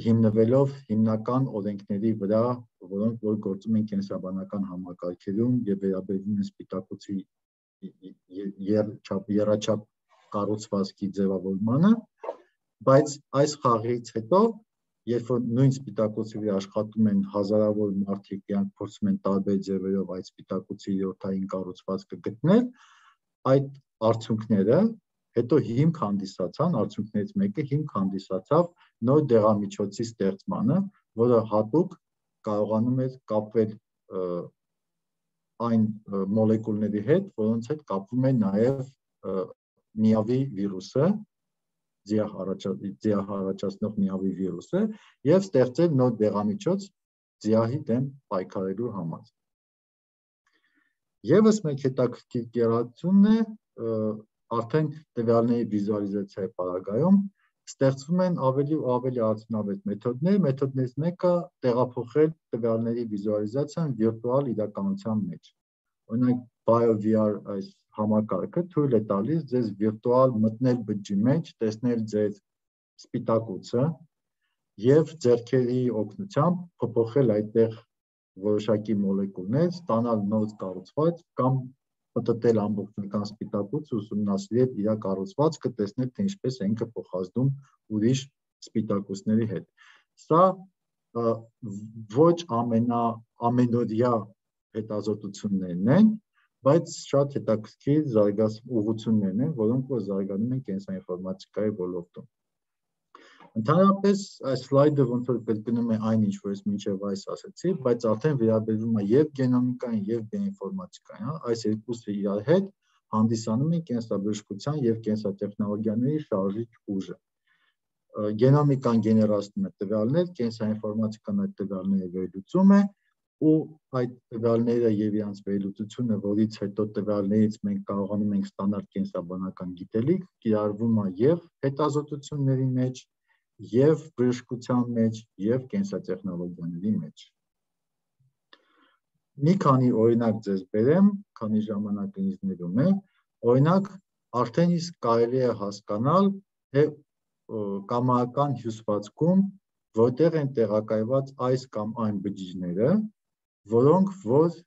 հիմնվելով հիմնական օրենքների վրա, որոնք որ գործում են կենսաբանական համակարգերում եւ վերաբերվում են սպիտակուցի եռաչափ կառուցվածքի ձևավորմանը, բայց այս խաղից հետո, երբ որ նույն սպիտակուցի վրա աշխատում են հազարավոր մարդիկ, իրանք փորձում են տարբեր ձևերով այդ սպիտակուցի յոթային կառուցվածքը գտնել, այդ արդյունքները հետո հիմք հանդիսացան, արդյունքներից մեկը հիմք հանդիսացավ նոր դեղամիջոցի ստեղծմանը, որը հատուկ կարողանում է կապվել այն մոլեկուլների հետ, որոնց հետ կապվում է նաև միավի վիրուսը, ձիահ առաջացնող միավի վիրուսը եւ ստեղծել նոր դեղամիջոց ձիահի դեմ պայքարելու համար։ Եվս մեկ հետաքրքիր գերացումն է արդեն տվյալների վիզուալիզացիայի պարագայում ստեղծվում են ավելի ու ավելի արդյունավետ մեթոդներ, մեթոդներից մեկը տեղափոխել տվյալների վիզուալիզացիան վիրտուալ իրականության մեջ։ Օրինակ BioVR այս համակարգը թույլ է տալիս ձեզ վիրտուալ մտնել բջջի մեջ, տեսնել ձեր սպիտակուցը եւ ձեռքերի օգնությամբ փոփոխել այդտեղ որոշակի մոլեկուլներ, ստանալ նոր կառուցվածք կամ պատտել ամբողջական սպիտակուց, ուսումնասիրել իր կառուցվածքը, տեսնել թե ինչպես է ինքը փոխազդում ուրիշ սպիտակուցների հետ։ Սա ոչ ամենա ամենօրյա հետազոտություններն են, բայց շատ հետաքրքիր զարգացումներն են, որոնք որ զարգանում են կենսաինֆորմատիկայի ոլորտում։ Ընդհանրապես այս սլայդը ոնց որ կրկնում է այն, ինչ որ ես մինչև այս ասացի, բայց արդեն վերաբերվում է եւ գենոմիկային եւ բիոինֆորմատիկային, այս երկուսը իրար հետ հանդիսանում են կենսաբժշկության եւ կենսատեխնոլոգիաների շարժիչ ուժը։ Գենոմիկան գեներացնում է տվյալներ, կենսաինֆորմատիկան այդ տվյալները վերլուծում է, ու այդ տվյալները եւ իրանց վերլուծությունը, որից հետո տվյալներից մենք կարողանում ենք ստանալ կենսաբանական գիտելիք, կիրառվում է եւ հետազոտությունների մեջ, եւ բժշկության մեջ, եւ կենսատեխնոլոգիաների մեջ։ Մի քանի օրինակ ձեզ բերեմ, քանի ժամանակը ինձ ներում է, օրինակ արդեն իսկ կարելի է հասկանալ, թե կամարական հյուսվածքում որտեղ են տեղակայված այս կամ այն բջիջները, որոնք որ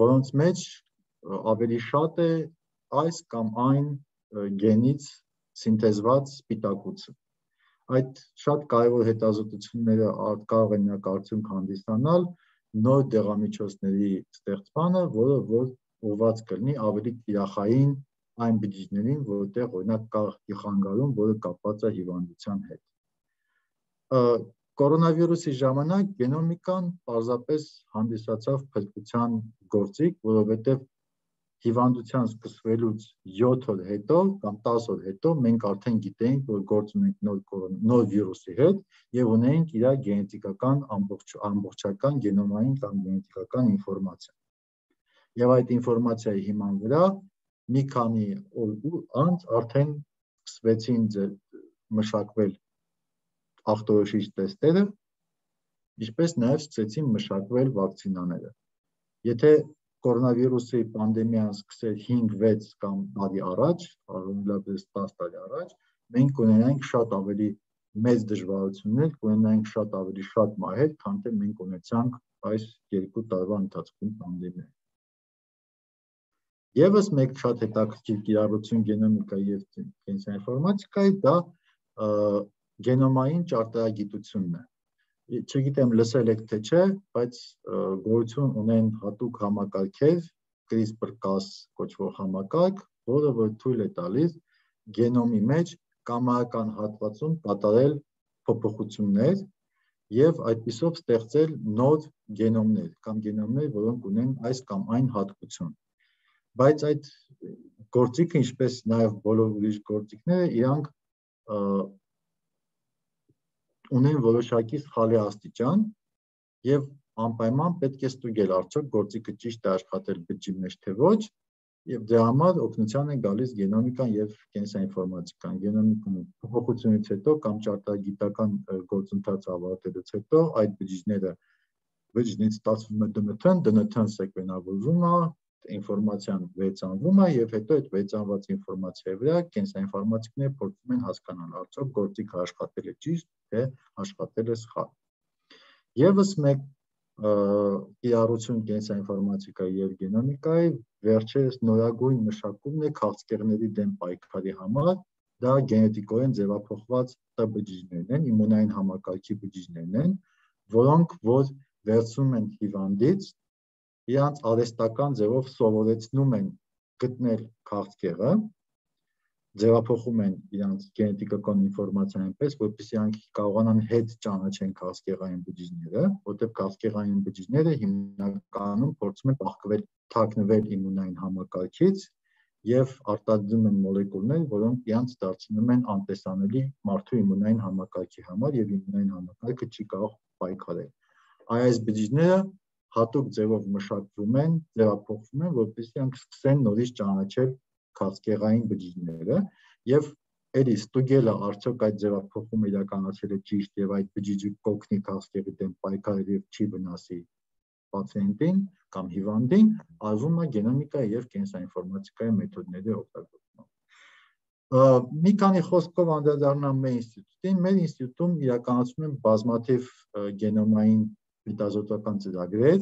որոնց մեջ ավելի շատ է այս կամ այն գենից սինթեզված սպիտակուցը։ Այդ շատ կարևոր հետազոտությունները կարող են նրանք արդյունք հանդիսանալ նոր դեղամիջոցների ստեղծմանը, որը որ ուղղված կլինի ավելի տիրախային այն բջիջներին, որտեղ օրինակ կա խանգարում, որը կապված է հիվանդության հետ։ Կորոնավիրուսի ժամանակ գենոմիկան պարզապես հանդիսացավ փրկության գործիք, որովհետև հիվանդության սկսվելուց յոթ օր հետո կամ տասը օր հետո մենք արդեն գիտեինք, որ գործ ունենք նոր նոր վիրուսի հետ եւ ունենք իր գենետիկական ամբողջ ամբողջական գենոմային կամ գենետիկական ինֆորմացիա։ Եվ այդ ինֆորմացիայի հիման վրա մի քանի օր անց արդեն սկսվեցին մշակվել ախտորոշիչ տեստերը, ինչպես նաև սկսեցին մշակվել վակցինաները։ Եթե կորոնավիրուսի պանդեմիան սկսեր հինգ վեց կամ տարի առաջ, առնվազն տասը տարի առաջ, մենք կունենայինք շատ ավելի մեծ դժվարություններ, կունենայինք շատ ավելի շատ մահեր, քան թե մենք ունեցանք այս երկու տարվա ընթացքում պանդեմիայում։ Եվս մեկ շատ հետաքրքիր կիրառություն գենոմիկայի եւ կենսաինֆորմատիկայի դա գենոմային ճարտարագիտությունն է։ Չգիտեմ լսել եք թե չէ, բայց գոյություն ունեն հատուկ համակարգեր, CRISPR-Cas կոչվող համակարգ, որը որ թույլ է տալիս գենոմի մեջ կամարական հատվածում կատարել փոփոխություններ եւ այդպիսով ստեղծել նոր գենոմներ կամ գենոմներ, որոնք ունեն այս կամ այն հատկություն։ Բայց այդ գործիքը, ինչպես նաեւ բոլոր ուրիշ գործիքները, իրանք ունեն որոշակի սխալի աստիճան եւ անպայման պետք է ստուգել արդյոք գործիքը ճիշտ է աշխատել բջջի մեջ թե ոչ եւ դրա համար օգնության է գալիս գենոմիկան եւ կենսաինֆորմատիկան։ Գենոմիկան փոփոխությունից հետո կամ ճարտարագիտական գործընթաց ավարտելուց հետո այդ բջիջները բջջից ստացվում է դը են թեն, դը են թեն սեկվենավորվում է, ինֆորմացիան վերցանվում է եւ հետո այդ վերցանված ինֆորմացիայի վրա կենսաինֆորմատիկները փորձում են հասկանալ արդյոք գործիքը աշխատել է ճիշտ, թե աշխատել է սխալ։ Եվս մեկ կիրառություն կենսաինֆորմատիկայի եւ գենոմիկայի վերջերս նորագույն մշակումն է քաղցկեղների դեմ պայքարի համար, դա գենետիկորեն ձևափոխված Տ բջիջներն են, իմունային համակարգի բջիջներն են, որոնք որ վերցնում են հիվանդից, իրանց արհեստական ձևով սովորեցնում են գտնել քաղցկեղը, ձևափոխում են իրանց գենետիկական ինֆորմացիան այնպես, որպեսզի իրանք կարողանան հետ ճանաչեն քաղցկեղային բջիջները, որտեղ քաղցկեղային բջիջները հիմնականում փորձում են փախկվել, թաքնվել իմունային համակարգից եւ արտադրում են մոլեկուլներ, որոնք իրանց դարձնում են անտեսանելի մարդու իմունային համակարգի համար եւ իմունային համակարգը չի կարող պայքարել։ Այս բջիջները հատուկ ձևով մշակվում են, ձևափոխվում են, որպեսզի իրանք սկսեն նորից ճանաչել քաղցկեղային բջիջները եւ էլի ստուգելը արդյոք այդ ձևափոխումը իրականացել է ճիշտ եւ այդ բջիջը կօգնի քաղցկեղի դեմ պայքարել եւ չի վնասի պացիենտին կամ հիվանդին, արվում է գենոմիկայի եւ կենսաինֆորմատիկայի մեթոդների օգտագործմամբ։ Մի քանի խոսքով անդրադառնամ մեր ինստիտուտին, մեր ինստիտուտում իրականացվում են բազմաթիվ գենոմային հետազոտական ծրագրեր,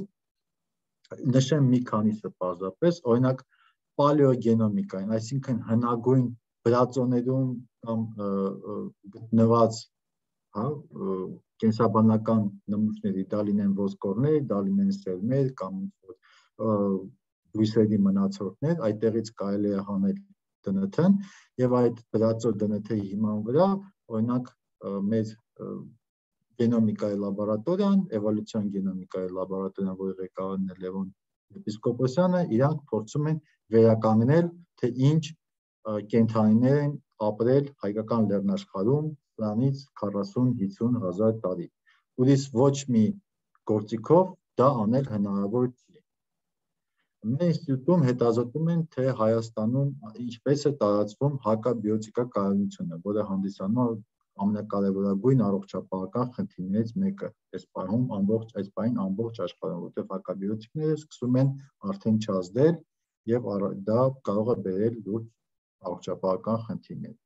նշեմ մի քանիսը պարզապես, օրինակ պալեոգենոմիկային, այսինքն հնագույն բրածոներում կամ գտնված կենսաբանական նմուշների, դա լինեն ոսկորներ, դա լինեն սերմեր կամ բույսերի մնացորդներ, այդտեղից կարելի է հանել դն թ-ն եւ այդ բրածո դն թ-ի հիման վրա, օրինակ մեր գենոմիկայի լաբորատորիան, էվոլյուցիոն գենոմիկայի լաբորատորիան, որի ղեկավարն է Լևոն Եպիսկոպոսյանը, իրանք փորձում են վերականգնել, թե ինչ կենդանիներ են ապրել հայկական լեռնաշխարհում սրանից քառասուն-հիսուն հազար տարի։ Ուրիշ ոչ մի գործիքով դա անել հնարավոր չի։ Մեր ինստիտուտում հետազոտում են, թե Հայաստանում ինչպես է տարածվում հակաբիոտիկակայունությունը, որը հանդիսանում է ամենակարևորագույն առողջապահական խնդիրներից մեկը այս պահում ամբողջ այս պահին ամբողջ աշխարհում, որտեղ հակաբիոտիկները սկսում են արդեն չազդել եւ դա կարող է բերել լուրջ առողջապահական խնդիրներ։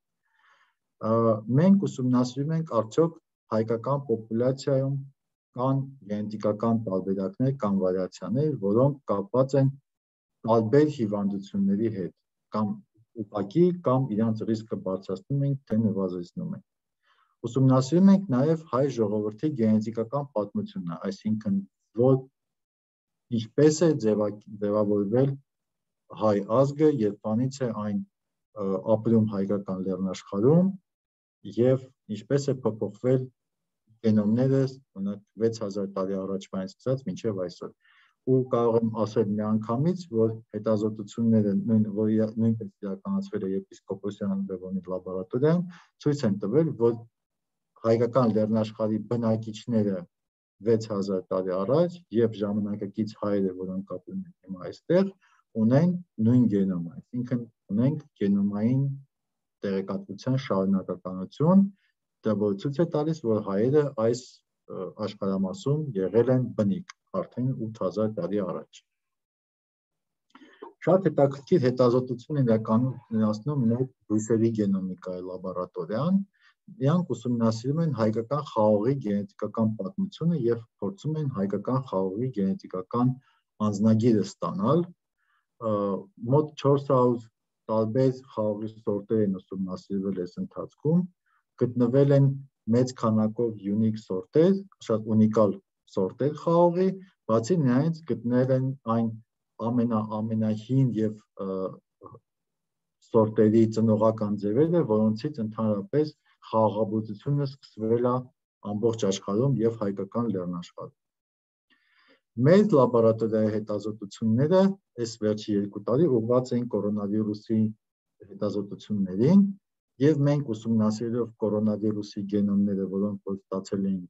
Մենք ուսումնասիրում ենք արդյոք հայկական պոպուլյացիայում կան գենետիկական տարբերակներ կամ վարիացիաներ, որոնք կապված են տարբեր հիվանդությունների հետ, կամ ուղղակի կամ իրանց ռիսկը բարձրացնում են, թե նվազեցնում են։ Ուսումնասիրում ենք նաև հայ ժողովրդի գենետիկական պատմությունը, այսինքն որ ինչպես է ձևավորվել հայ ազգը, երբանից է այն ապրում հայկական լեռնաշխարհում եւ ինչպես է փոփոխվել գենոմները վեց հազար տարի առաջվանից սկսած մինչև այսօր։ Ու կարող եմ ասել միանգամից, որ հետազոտությունները նույնպես իրականացվել է Եպիսկոպոսյան Լևոնի լաբորատորիայում, ցույց են տվել, որ հայկական լեռնաշխարհի բնակիչները վեց հազար տարի առաջ եւ ժամանակակից հայերը, որոնք ապրում են հիմա այստեղ, ունեն նույն գենոմը, այսինքն ունենք գենոմային տեղեկատվության շարունակականություն, դա որ ցույց է տալիս, որ հայերը այս աշխարհամասում եղել են բնիկ արդեն ութ հազար տարի առաջ։ Շատ հետաքրքիր հետազոտություն իրականացնում մեր բույսերի գենոմիկայի լաբորատորիան, իրանք ուսումնասիրում են հայկական խաղողի գենետիկական պատմությունը եւ փորձում են հայկական խաղողի գենետիկական անձնագիրը ստանալ, մոտ չորս հարյուր տարբեր խաղողի սորտեր են ուսումնասիրվել այս ընթացքում, գտնվել են մեծ քանակով յունիկ սորտեր, շատ ունիկալ սորտեր խաղողի, բացի նրանից գտնել են այն ամենահին եւ սորտերի ծնողական ձևերը, որոնցից ընդհանրապես խաղաղաբուծությունը սկսվել է ամբողջ աշխարհում եւ հայկական լեռնաշխարհում։ Մեր լաբորատորիայի հետազոտությունները այս վերջի երկու տարի ուղղված էին կորոնավիրուսի հետազոտություններին եւ մենք ուսումնասիրելով կորոնավիրուսի գենոմները, որոնք որ ստացել էին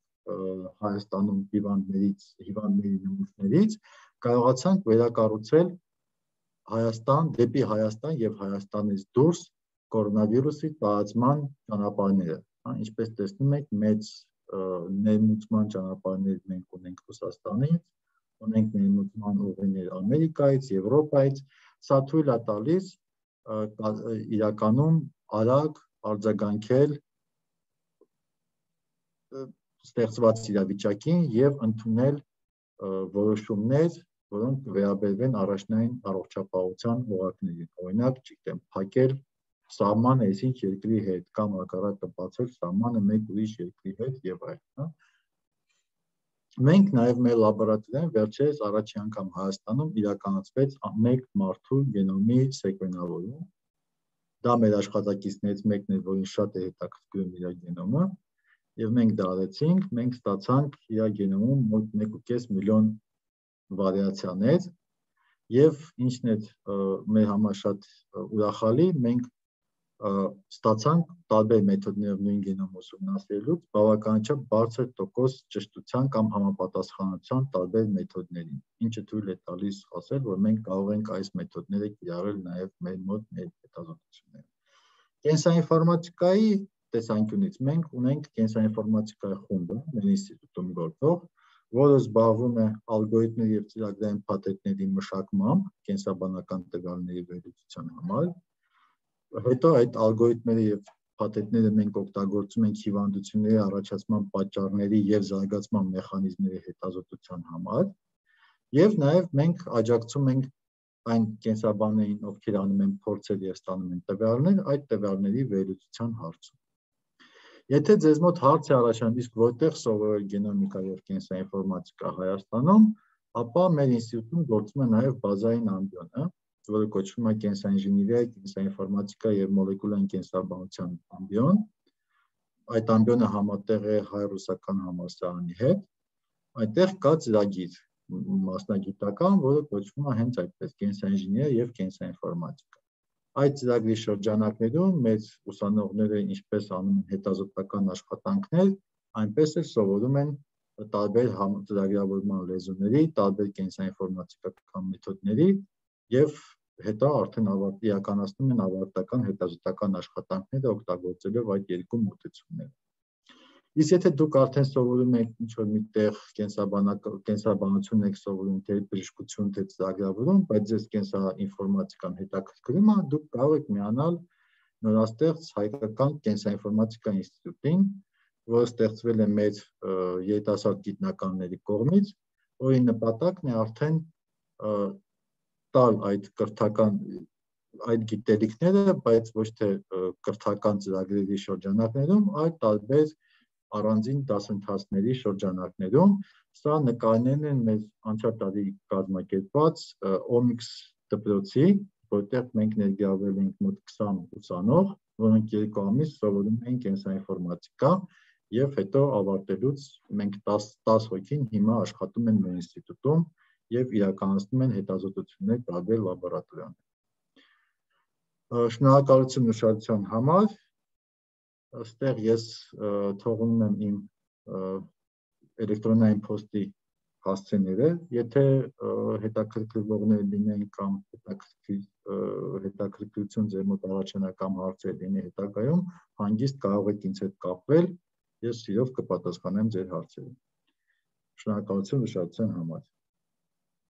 Հայաստանում հիվանդներից, հիվանդների նմուշներից, կարողացանք վերակառուցել Հայաստան, դեպի Հայաստան եւ Հայաստանից դուրս կորոնավիրուսի տարածման ճանապարհները։ Ինչպես տեսնում եք, մեծ ներմուծման ճանապարհներ մենք ունենք Ռուսաստանից, ունենք ներմուծման ուղիներ Ամերիկայից, Եվրոպայից, սա թույլ է տալիս իրականում արագ արձագանքել ստեղծված իրավիճակին եւ ընդունել որոշումներ, որոնք վերաբերվեն առաջնային առողջապահության օղակներին, օրինակ, չգիտեմ, փակել սահմանը այսինչ երկրի հետ կամ հակառակը բացել սահմանը մեկ ուրիշ երկրի հետ եւ այլն։ Մենք նաեւ մեր լաբորատորիայում վերջերս առաջին անգամ Հայաստանում իրականացվեց մեկ մարդու գենոմի սեկվենավորում։ Դա մեր աշխատակիցներից մեկն էր, որին շատ է հետաքրքրում իր գենոմը, եւ մենք դա արեցինք, մենք ստացանք իր գենոմում մոտ մեկ ու կես միլիոն վարիացիաներ եւ ինչն է մեր համար շատ ուրախալի, մենք ստացանք տարբեր մեթոդներով նույն գենոմը ուսումնասիրելուց բավականաչափ բարձր տոկոս ճշտության կամ համապատասխանության տարբեր մեթոդներին, ինչը թույլ է տալիս ասել, որ մենք կարող ենք այս մեթոդները կիրառել նաև մեր մոտ մեր հետազոտություններում։ Կենսաինֆորմատիկայի տեսանկյունից մենք ունենք կենսաինֆորմատիկայի խումբը մեր ինստիտուտում գործող, որը զբաղվում է ալգորիթմների և ծրագրային փաթեթների մշակմամբ կենսաբանական տվյալների վերլուծության համար։ Հետո այդ ալգորիթմերը և փաթեթները մենք օգտագործում ենք հիվանդությունների առաջացման պատճառների և զարգացման մեխանիզմների հետազոտության համար, և նաև մենք աջակցում ենք այն կենսաբաններին, ովքեր անում են փորձեր և ստանում են տվյալներ, այդ տվյալների վերլուծության հարցում։ Եթե ձեզ մոտ հարց է առաջանում, իսկ որտեղ սովորել գենոմիկա և կենսաինֆորմատիկա Հայաստանում, ապա մեր ինստիտուտում գործում է նաև բազային ամբիոնը, որը կոչվում է կենսաինժեներիա, կենսաինֆորմատիկա և մոլեկուլային կենսաբանության ամբիոն։ Այդ ամբիոնը համատեղ է հայ-ռուսական համալսարանի հետ։ Այնտեղ կա ծրագիր մասնագիտական, որը կոչվում է հենց այդպես կենսաինժեներիա և կենսաինֆորմատիկա։ Այդ ծրագրի շրջանակներում մեր ուսանողները ինչպես անում են հետազոտական աշխատանքներ, այնպես էլ սովորում են տարբեր ծրագրավորման լեզուների, տարբեր կենսաինֆորմատիկական մեթոդների և հետո արդեն իրականացնում են ավարտական հետազոտական աշխատանքները օգտագործելով այդ երկու մոտեցումները։ Իսկ եթե դուք արդեն սովորում եք ինչ-որ միտեղ կենսաբանություն եք սովորում, թե բժշկություն, թե ծրագրավորում, բայց ձեզ կենսաինֆորմատիկան հետաքրքրում է, դուք կարող եք միանալ նորաստեղծ Հայկական կենսաինֆորմատիկա ինստիտուտին, որը ստեղծվել է մեր երիտասարդ գիտնականների կողմից, որի նպատակն է արդեն տալ այդ կրթական այդ գիտելիքները, բայց ոչ թե կրթական ծրագրերի շրջանակներում, այլ տարբեր առանձին դասընթացների շրջանակներում։ Սա նկարներն են մեր անցյալ տարի կազմակերպված օմիքս դպրոցի, որտեղ մենք ներգրավել ենք մոտ քսան ուսանող, որոնք երկու ամիս սովորում էին կենսաինֆորմատիկա, և հետո ավարտելուց մենք տասը հոգին հիմա աշխատում են մեր ինստիտուտում և իրականացնում են հետազոտություններ տարբեր լաբորատորիաներում։ Շնորհակալություն ուշադրության համար։ Այստեղ ես թողնում եմ իմ էլեկտրոնային փոստի հասցեները, եթե հետաքրքրվողներ լինեն կամ հետաքրքրություն ձեր մոտ առաջանա կամ հարցեր լինի հետագայում, հանգիստ կարող եք ինձ հետ կապվել, ես սիրով կպատասխանեմ ձեր հարցերին։ Շնորհակալություն ուշադրության համար։